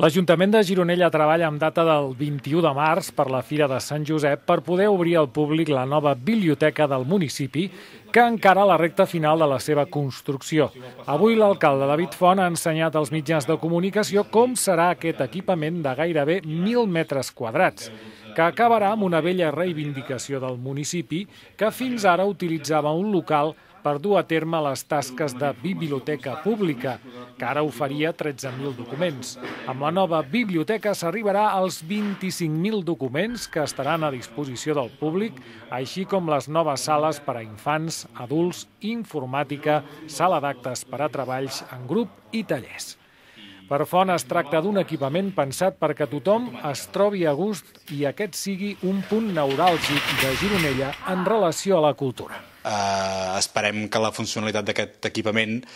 L'Ajuntament de Gironella treballa amb data del 21 de març per la Fira de Sant Josep per poder obrir al públic la nova biblioteca del municipi, que encara a la recta final de la seva construcció. Avui l'alcalde David Font ha ensenyat als mitjans de comunicació com serà aquest equipament de gairebé 1.000 metres quadrats, que acabarà amb una vella reivindicació del municipi que fins ara utilitzava un local per dur a terme les tasques de biblioteca pública, que ara oferia 13.000 documents. Amb la nova biblioteca s'arribarà als 25.000 documents que estaran a disposició del públic, així com les noves sales per a infants, adults, informàtica, sala d'actes per a treballs en grup i tallers. Per Font es tracta d'un equipament pensat perquè tothom es trobi a gust i aquest sigui un punt neuràlgic de Gironella en relació a la cultura. Esperem que la funcionalitat d'aquest equipament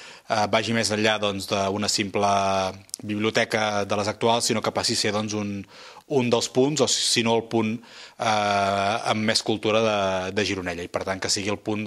vagi més enllà d'una simple biblioteca de les actuals, sinó que passi a ser un dels punts, o si no el punt amb més cultura de Gironella, i per tant que sigui el punt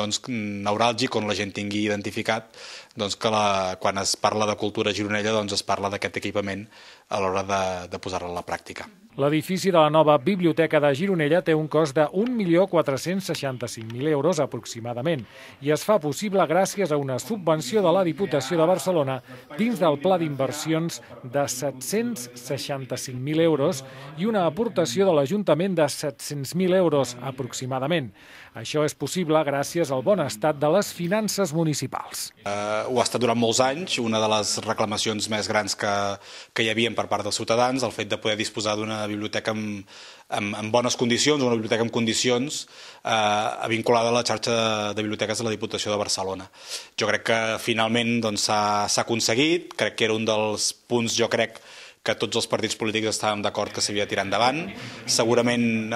neuràlgic on la gent tingui identificat que quan es parla de cultura a Gironella es parla d'aquest equipament a l'hora de posar-la a la pràctica. L'edifici de la nova Biblioteca de Gironella té un cost de 1.465.000 euros aproximadament i es fa possible gràcies a una subvenció de la Diputació de Barcelona dins del pla d'inversions de 765.000 euros i una aportació de l'Ajuntament de 700.000 euros aproximadament. Això és possible gràcies al bon estat de les finances municipals. Ho ha estat durant molts anys, una de les reclamacions més grans que hi havia per part dels ciutadans, el fet de poder disposar d'una biblioteca en bones condicions, una biblioteca en condicions vinculada a la xarxa de biblioteques de la Diputació de Barcelona. Jo crec que finalment s'ha aconseguit, crec que era un dels punts, jo crec, que tots els partits polítics estàvem d'acord que s'havia de tirar endavant. Segurament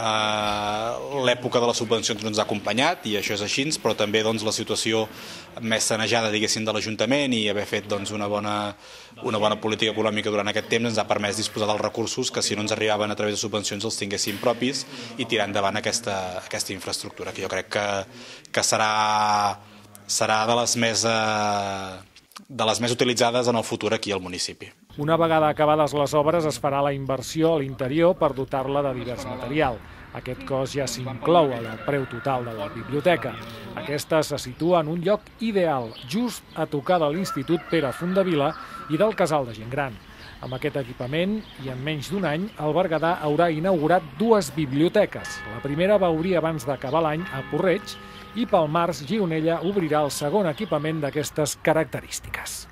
l'època de les subvencions no ens ha acompanyat, i això és així, però també la situació més sanejada, diguéssim, de l'Ajuntament i haver fet una bona política econòmica durant aquest temps ens ha permès disposar dels recursos que, si no ens arribaven a través de subvencions, els tinguéssim propis i tirar endavant aquesta infraestructura, que jo crec que serà de les més utilitzades en el futur aquí al municipi. Una vegada acabades les obres es farà la inversió a l'interior per dotar-la de divers material. Aquest cost ja s'inclou al preu total de la biblioteca. Aquesta se situa en un lloc ideal, just a tocar de l'Institut Pere Fondavila i del Casal de Gent Gran. Amb aquest equipament, i en menys d'un any, el Berguedà haurà inaugurat 2 biblioteques. La primera va obrir abans d'acabar l'any a Porreig i pel març Gironella obrirà el segon equipament d'aquestes característiques.